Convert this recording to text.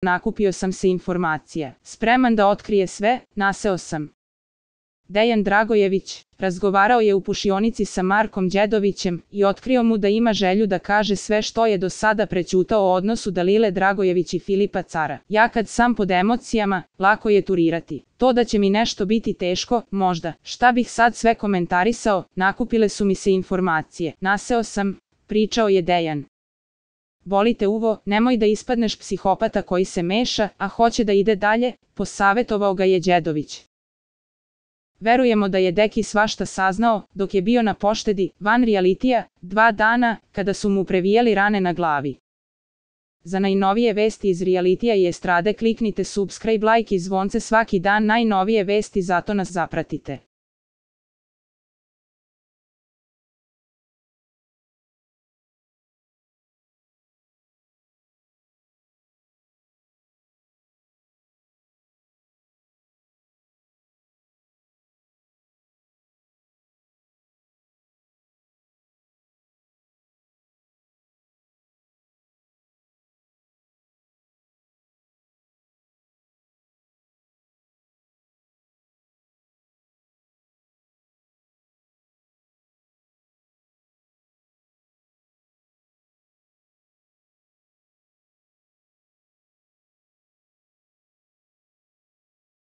nakupio sam se informacija. Spreman da otkrije sve, naseo sam. Dejan Dragojević razgovarao je u pušionici sa Markom Đedovićem i otkrio mu da ima želju da kaže sve što je do sada prećutao o odnosu Dalile Dragojević i Filipa Cara. Ja kad sam pod emocijama, lako je turirati. To da će mi nešto biti teško, možda. Šta bih sad sve komentarisao, nakupile su mi se informacije. Naseo sam, pričao je Dejan. Boli te uvo, nemoj da ispadneš psihopata koji se meša, a hoće da ide dalje, posavetovao ga je Đedović. Verujemo da je Deki svašta saznao, dok je bio na poštedi, van realitija, 2 dana, kada su mu previjali rane na glavi. Za najnovije vesti iz realitija i estrade kliknite subscribe, like i zvonce svaki dan, najnovije vesti, zato nas zapratite.